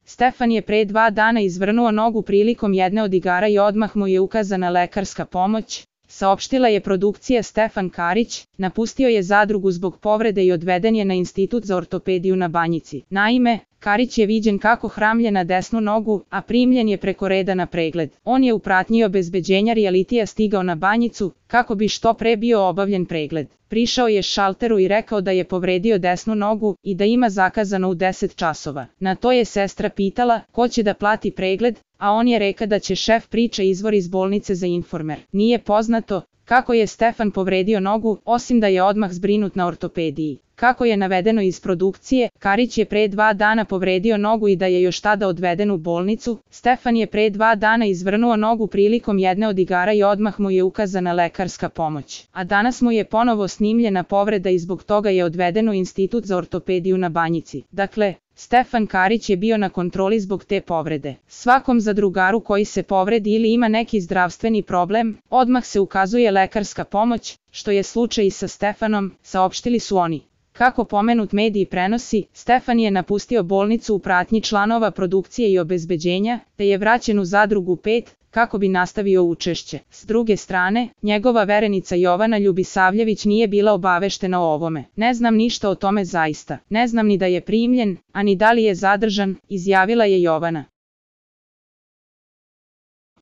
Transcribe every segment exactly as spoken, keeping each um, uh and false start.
Stefan je pre dva dana izvrnuo nogu prilikom jedne od igara i odmah mu je ukazana lekarska pomoć, saopštila je produkcija. Stefan Karić napustio je zadrugu zbog povrede i odveden je na Institut za ortopediju na Banjici. Naime, Karić je viđen kako hramlje na desnu nogu, a primljen je preko reda na pregled. On je u pratnji obezbeđenja realitija stigao na Banjicu, kako bi što pre bio obavljen pregled. Prišao je šalteru i rekao da je povredio desnu nogu i da ima zakazano u deset časova. Na to je sestra pitala ko će da plati pregled, a on je rekao da će šef priča izvor iz bolnice za Informer. Nije poznato kako je Stefan povredio nogu, osim da je odmah zbrinut na ortopediji. Kako je navedeno iz produkcije, Karić je pre dva dana povredio nogu i da je još tada odveden u bolnicu. Stefan je pre dva dana izvrnuo nogu prilikom jedne od igara i odmah mu je ukazana lekarska pomoć. A danas mu je ponovo snimljena povreda i zbog toga je odveden u Institut za ortopediju na Banjici. Dakle, Stefan Karić je bio na kontroli zbog te povrede. Svakom zadrugaru koji se povredi ili ima neki zdravstveni problem, odmah se ukazuje lekarska pomoć, što je slučaj i sa Stefanom, saopštili su oni. Kako pomenut mediji prenosi, Stefan je napustio bolnicu u pratnji članova produkcije i obezbeđenja, te je vraćen u zadrugu pet, kako bi nastavio učešće. S druge strane, njegova verenica Jovana Ljubisavljević nije bila obaveštena o ovome. Ne znam ništa o tome zaista. Ne znam ni da je primljen, a ni da li je zadržan, izjavila je Jovana.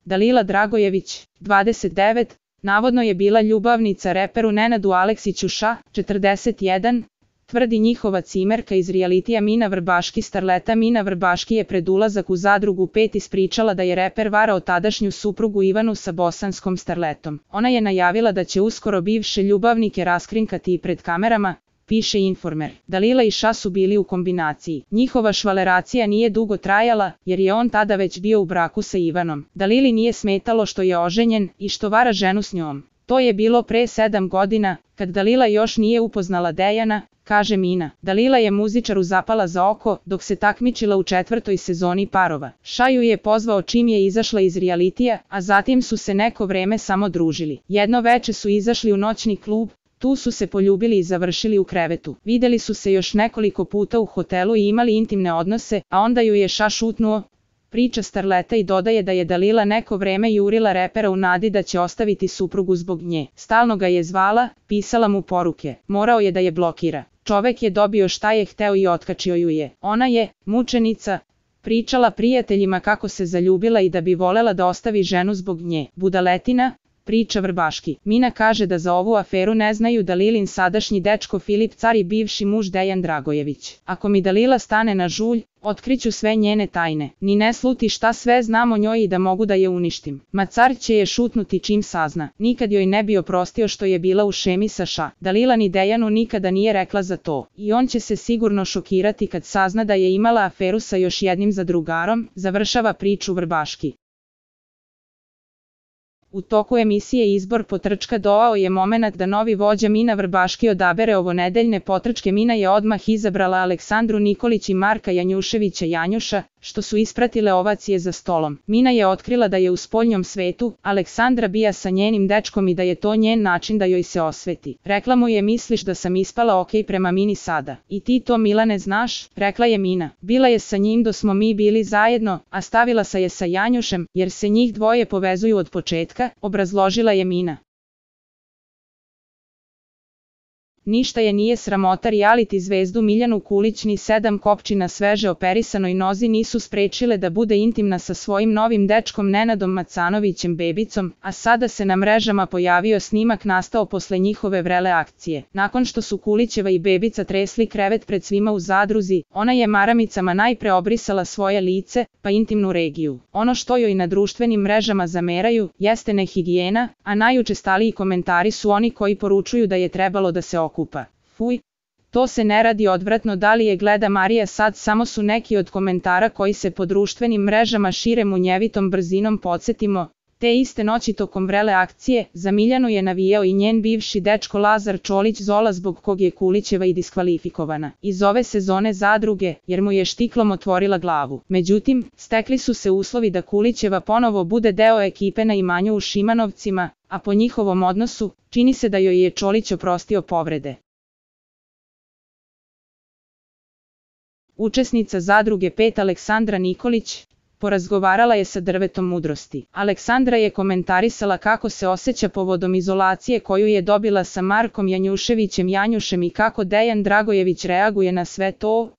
Dalila Dragojević, dvadeset devet, navodno je bila ljubavnica reperu Nenadu Aleksiću Ša, četrdeset jedan, tvrdi njihova cimerka iz realitija Mina Vrbaški. Starleta Mina Vrbaški je pred ulazak u zadrugu pet ispričala da je reper varao tadašnju suprugu Ivanu sa bosanskom starletom. Ona je najavila da će uskoro bivše ljubavnike raskrinkati i pred kamerama, piše Informer. Dalila i Ša su bili u kombinaciji. Njihova švaleracija nije dugo trajala, jer je on tada već bio u braku sa Ivanom. Dalili nije smetalo što je oženjen i što vara ženu s njom. To je bilo pre sedam godina, kad Dalila još nije upoznala Dejana, kaže Mina. Dalila je muzičaru zapala za oko dok se takmičila u četvrtoj sezoni Parova. Ša ju je pozvao čim je izašla iz realitija, a zatim su se neko vreme samo družili. Jedno veče su izašli u noćni klub, tu su se poljubili i završili u krevetu. Videli su se još nekoliko puta u hotelu i imali intimne odnose, a onda ju je Ša šutnuo, priča starleta i dodaje da je Dalila neko vreme jurila repera u nadi da će ostaviti suprugu zbog nje. Stalno ga je zvala, pisala mu poruke. Morao je da je blokira. Čovek je dobio šta je hteo i otkačio ju je. Ona je, mučenica, pričala prijateljima kako se zaljubila i da bi volela da ostavi ženu zbog nje. Budaletina, priča Vrbaški. Mina kaže da za ovu aferu ne znaju Dalilin sadašnji dečko Filip Car i bivši muž Dejan Dragojević. Ako mi Dalila stane na žulj, otkriću sve njene tajne. Ni ne sluti šta sve znam o njoj i da mogu da je uništim. Ma Car će je šutnuti čim sazna. Nikad joj ne bi oprostio što je bila u šemi sa Ša. Dalila ni Dejanu nikada nije rekla za to. I on će se sigurno šokirati kad sazna da je imala aferu sa još jednim zadrugarom, završava priču Vrbaški. U toku emisije Izbor potrčka dovao je momenat da novi vođa Mina Vrbaški odabere ovonedeljne potrčke. Mina je odmah izabrala Aleksandru Nikolić i Marka Janjuševića Janjuša, što su ispratile ovacije za stolom. Mina je otkrila da je u spoljnom svetu Aleksandra bija sa njenim dečkom i da je to njen način da joj se osveti. Rekla mu je misliš da sam ispala ok prema Mini sada. I ti to Milane znaš, rekla je Mina. Bila je sa njim do smo mi bili zajedno, a stavila se je sa Janjušem, jer se njih dvoje povezuju od početka, obrazložila je Mina. Ništa je nije sramota, reality zvezdu Miljanu Kulić ni sedam kopčina sveže operisanoj nozi nisu sprečile da bude intimna sa svojim novim dečkom Nenadom Macanovićem Bebicom, a sada se na mrežama pojavio snimak nastao posle njihove vrele akcije. Nakon što su Kulićeva i Bebica tresli krevet pred svima u zadruzi, ona je maramicama najpre obrisala svoje lice, pa intimnu regiju. Ono što joj na društvenim mrežama zameraju, jeste nehigijena, a najučestaliji komentari su oni koji poručuju da je trebalo da se okupa. Kupa. Fuj, to se ne radi, odvratno, da li je gleda Marija sad, samo su neki od komentara koji se po društvenim mrežama šire munjevitom brzinom. Podsjetimo, te iste noći tokom vrele akcije, za Miljanu je navijao i njen bivši dečko Lazar Čolić Zola, zbog kog je Kulićeva i diskvalifikovana iz ove sezone zadruge, jer mu je štiklom otvorila glavu. Međutim, stekli su se uslovi da Kulićeva ponovo bude deo ekipe na imanju u Šimanovcima, a po njihovom odnosu, čini se da joj je Čolić oprostio povrede. Učesnica Zadruge pet Aleksandra Nikolić porazgovarala je sa drvetom mudrosti. Aleksandra je komentarisala kako se osjeća povodom izolacije koju je dobila sa Markom Janjuševićem Janjušem i kako Dejan Dragojević reaguje na sve to.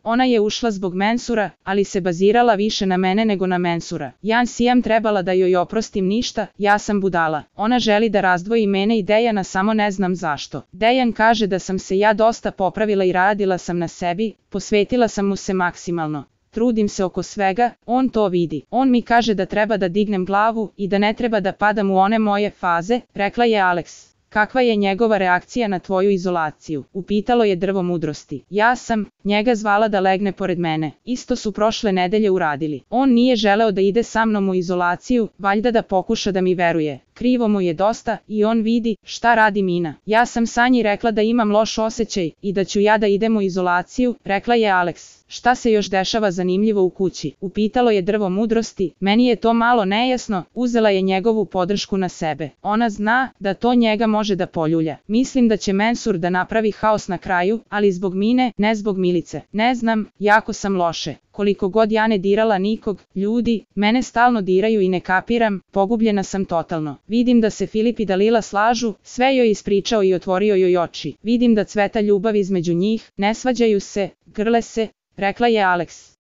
Ona je ušla zbog mensura, ali se bazirala više na mene nego na mensura. Ja sijam trebala da joj oprostim ništa, ja sam budala. Ona želi da razdvoji mene i Dejana, samo ne znam zašto. Dejan kaže da sam se ja dosta popravila i radila sam na sebi, posvetila sam mu se maksimalno. Trudim se oko svega, on to vidi. On mi kaže da treba da dignem glavu i da ne treba da padam u one moje faze, rekla je Alex. Kakva je njegova reakcija na tvoju izolaciju? Upitalo je drvo mudrosti. Ja sam njega zvala da legne pored mene. Isto su prošle nedelje uradili. On nije želeo da ide sa mnom u izolaciju, valjda da pokuša da mi veruje. Krivo mu je dosta i on vidi šta radi Mina. Ja sam Sanji rekla da imam loš osjećaj i da ću ja da idem u izolaciju, rekla je Alex. Šta se još dešava zanimljivo u kući? Upitalo je drvo mudrosti. Meni je to malo nejasno, uzela je njegovu podršku na sebe. Ona zna da to njega može da poljulja. Mislim da će mensur da napravi haos na kraju, ali zbog Mine, ne zbog Milice. Ne znam, jako sam loše. Koliko god ja ne dirala nikog, ljudi, mene stalno diraju i ne kapiram, pogubljena sam totalno. Vidim da se Filip i Dalila slažu, sve joj ispričao i otvorio joj oči. Vidim da cveta ljubav između njih, ne svađaju se, grle se, rekla je Alex.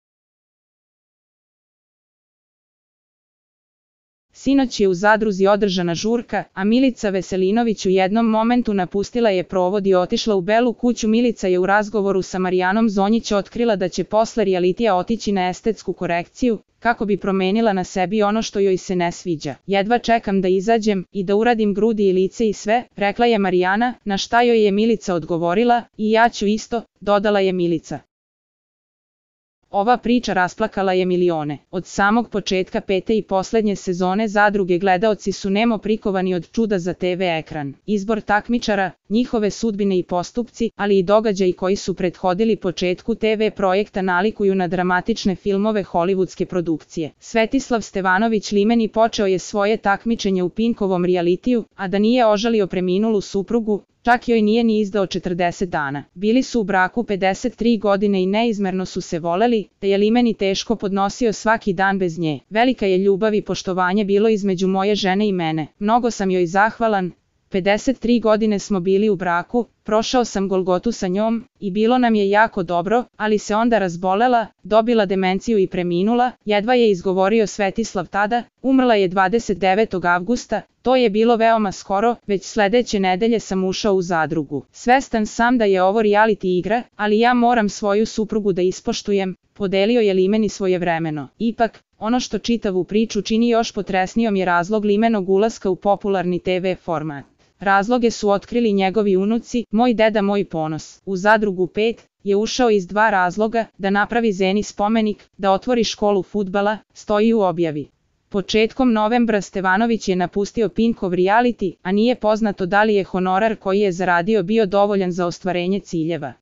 Sinoć je u Zadruzi održana žurka, a Milica Veselinović u jednom momentu napustila je provod i otišla u Belu kuću. Milica je u razgovoru sa Marijanom Zonjić otkrila da će posle realitija otići na estetsku korekciju, kako bi promenila na sebi ono što joj se ne sviđa. Jedva čekam da izađem i da uradim grudi i lice i sve, rekla je Marijana, na šta joj je Milica odgovorila, i ja ću isto, dodala je Milica. Ova priča rasplakala je milione. Od samog početka pete i poslednje sezone Zadruge gledaoci su nemo prikovani od čuda za te ve ekran. Izbor takmičara, njihove sudbine i postupci, ali i događaji koji su prethodili početku te ve projekta nalikuju na dramatične filmove hollywoodske produkcije. Svetislav Stevanović Limeni počeo je svoje takmičenje u Pinkovom realitiju, a da nije ožalio preminulu suprugu, čak joj nije ni izdao četrdeset dana. Bili su u braku pedeset tri godine i neizmerno su se voleli, te je Limeni teško podnosio svaki dan bez nje. Velika je ljubav i poštovanje bilo između moje žene i mene. Mnogo sam joj zahvalan. pedeset tri godine smo bili u braku, prošao sam Golgotu sa njom i bilo nam je jako dobro, ali se onda razbolela, dobila demenciju i preminula, jedva je izgovorio Svetislav tada, umrla je dvadeset devetog avgusta, to je bilo veoma skoro, već sledeće nedelje sam ušao u Zadrugu. Svestan sam da je ovo reality igra, ali ja moram svoju suprugu da ispoštujem, podelio je Limeni svojevremeno. Ipak, ono što čitavu priču čini još potresnijom je razlog Limenog ulaska u popularni te ve format. Razloge su otkrili njegovi unuci, moj deda moj ponos. U Zadrugu pet je ušao iz dva razloga, da napravi Zeni spomenik, da otvori školu fudbala, stoji u objavi. Početkom novembra Stevanović je napustio Pinkov reality, a nije poznato da li je honorar koji je zaradio bio dovoljan za ostvarenje ciljeva.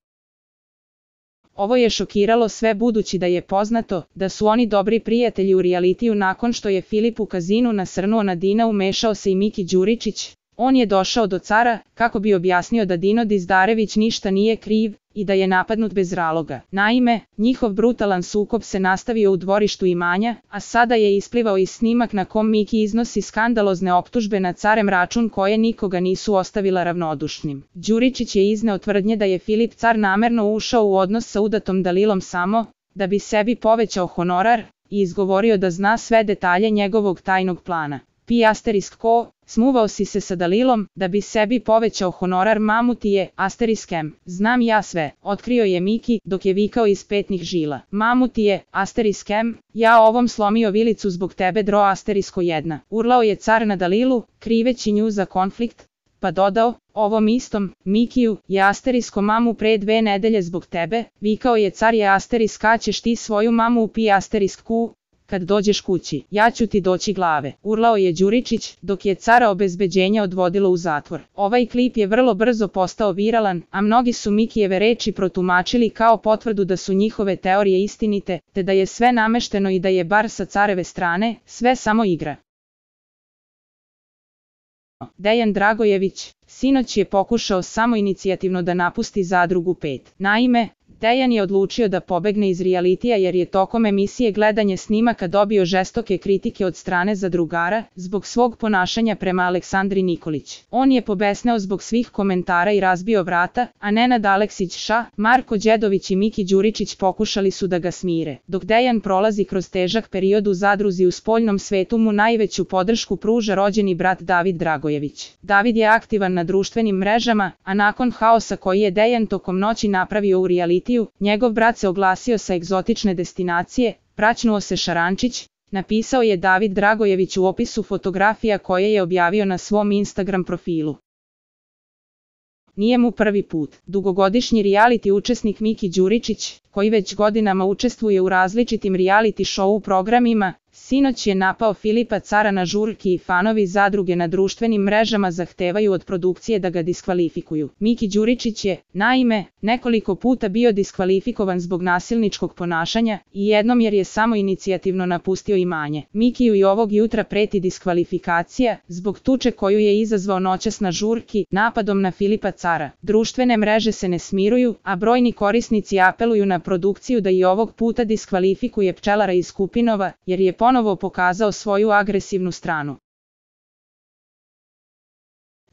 Ovo je šokiralo sve budući da je poznato da su oni dobri prijatelji u realitiju. Nakon što je Filip u kazinu nasrnuo na Dina, umešao se i Miki Đuričić. On je došao do cara, kako bi objasnio da Dino Dizdarević ništa nije kriv i da je napadnut bez razloga. Naime, njihov brutalan sukob se nastavio u dvorištu imanja, a sada je isplivao i snimak na kom Miki iznosi skandalozne optužbe na carem račun koje nikoga nisu ostavila ravnodušnim. Đuričić je izneo tvrdnje da je Filip car namerno ušao u odnos sa udatom Dalilom samo da bi sebi povećao honorar i izgovorio da zna sve detalje njegovog tajnog plana. Pi asterisk ko, smuvao si se sa Dalilom, da bi sebi povećao honorar. Mamuti je, asterisk em, znam ja sve, otkrio je Miki, dok je vikao iz petnih žila. Mamuti je, asterisk em, ja ovom slomio vilicu zbog tebe dro asterisko jedna. Urlao je car na Dalilu, kriveći nju za konflikt, pa dodao, ovom istom, Mikiju, je asterisko mamu pre dve nedelje zbog tebe, vikao je car je asterisk a ćeš ti svoju mamu u pi asterisk ku, kad dođeš kući, ja ću ti doći glave, urlao je Đuričić, dok je cara obezbeđenja odvodilo u zatvor. Ovaj klip je vrlo brzo postao viralan, a mnogi su Mikijeve reči protumačili kao potvrdu da su njihove teorije istinite, te da je sve namešteno i da je bar sa careve strane, sve samo igra. Dejan Dragojević, sinoć je pokušao samoinicijativno da napusti Zadrugu pet. Naime, Dejan je odlučio da pobegne iz realitija jer je tokom emisije gledanje snimaka dobio žestoke kritike od strane zadrugara zbog svog ponašanja prema Aleksandri Nikolić. On je pobesneo zbog svih komentara i razbio vrata, a Nenad Aleksić-Ša, Marko Đedović i Miki Đuričić pokušali su da ga smire. Dok Dejan prolazi kroz težak period u zadruzi u spoljnom svetu mu najveću podršku pruža rođeni brat David Dragojević. David je aktivan na društvenim mrežama, a nakon haosa koji je Dejan tokom noći napravio u realitiju, njegov brat se oglasio sa egzotične destinacije, praćnuo se Šarančić, napisao je David Dragojević u opisu fotografija koje je objavio na svom Instagram profilu. Nije mu prvi put. Dugogodišnji reality učesnik Miki Đuričić, koji već godinama učestvuje u različitim reality show programima, sinoć je napao Filipa Cara na žurki i fanovi zadruge na društvenim mrežama zahtevaju od produkcije da ga diskvalifikuju. Miki Đuričić je, naime, nekoliko puta bio diskvalifikovan zbog nasilničkog ponašanja i jednom jer je samo inicijativno napustio imanje. Mikiju i ovog jutra preti diskvalifikacija zbog tuče koju je izazvao noćas na žurki napadom na Filipa Cara. Društvene mreže se ne smiruju, a brojni korisnici apeluju na produkciju da i ovog puta diskvalifikuje pčelara iz Kupinova, jer je ponovo pokazao svoju agresivnu stranu.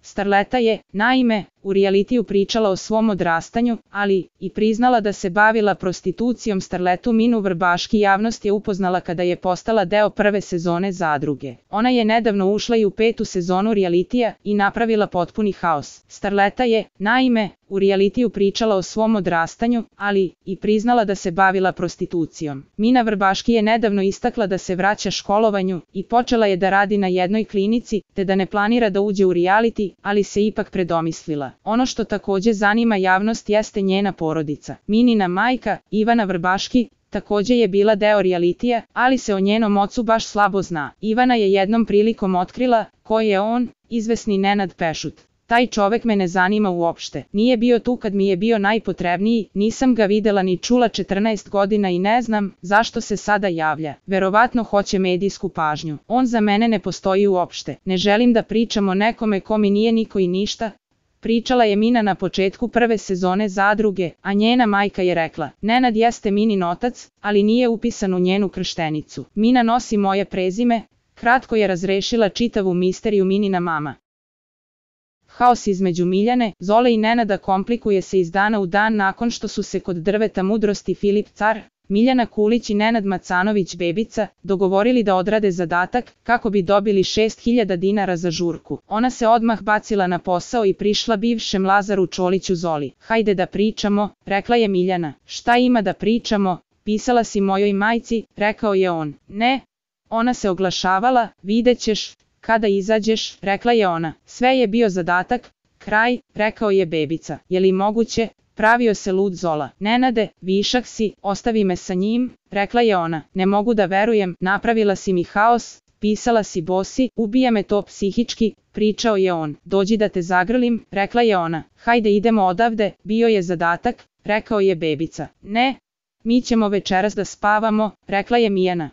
Starleta je, naime, u realitiju pričala o svom odrastanju, ali i priznala da se bavila prostitucijom. Starletu Minu Vrbaški javnost je upoznala kada je postala deo prve sezone Zadruge. Ona je nedavno ušla i u petu sezonu realitija i napravila potpuni haos. Starleta je, naime, u realitiju pričala o svom odrastanju, ali i priznala da se bavila prostitucijom. Mina Vrbaški je nedavno istakla da se vraća školovanju i počela je da radi na jednoj klinici, te da ne planira da uđe u reality, ali se ipak predomislila. Ono što takođe zanima javnost jeste njena porodica. Minina majka, Ivana Vrbaški, takođe je bila deo realitija, ali se o njenom ocu baš slabo zna. Ivana je jednom prilikom otkrila ko je on, izvesni Nenad Pešut. Taj čovek me ne zanima uopšte. Nije bio tu kad mi je bio najpotrebniji, nisam ga videla ni čula četrnaest godina i ne znam zašto se sada javlja. Verovatno hoće medijsku pažnju. On za mene ne postoji uopšte. Ne želim da pričam o nekome ko mi nije niko i ništa. Pričala je Mina na početku prve sezone Zadruge, a njena majka je rekla: Nenad jeste Minin otac, ali nije upisan u njenu krštenicu. Mina nosi moje prezime. Kratko je razrešila čitavu misteriju Minina mama. Haos između Miljane, Zole i Nenada komplikuje se iz dana u dan nakon što su se kod drveta mudrosti Filip Car, Miljana Kulić i Nenad Macanović Bebica dogovorili da odrade zadatak kako bi dobili šest hiljada dinara za žurku. Ona se odmah bacila na posao i prišla bivšem Lazaru Čoliću Zoli. Hajde da pričamo, rekla je Miljana. Šta ima da pričamo, pisala si mojoj majci, rekao je on. Ne, ona se oglašavala, vidjet ćeš. Kada izađeš, rekla je ona. Sve je bio zadatak, kraj, rekao je Bebica. Je li moguće? Pravio se lud Zola. Nenade, višak si, ostavi me sa njim, rekla je ona. Ne mogu da verujem, napravila si mi haos, pisala si bosi, ubija me to psihički, pričao je on. Dođi da te zagrlim, rekla je ona. Hajde idemo odavde, bio je zadatak, rekao je Bebica. Ne, mi ćemo večeras da spavamo, rekla je Mijana.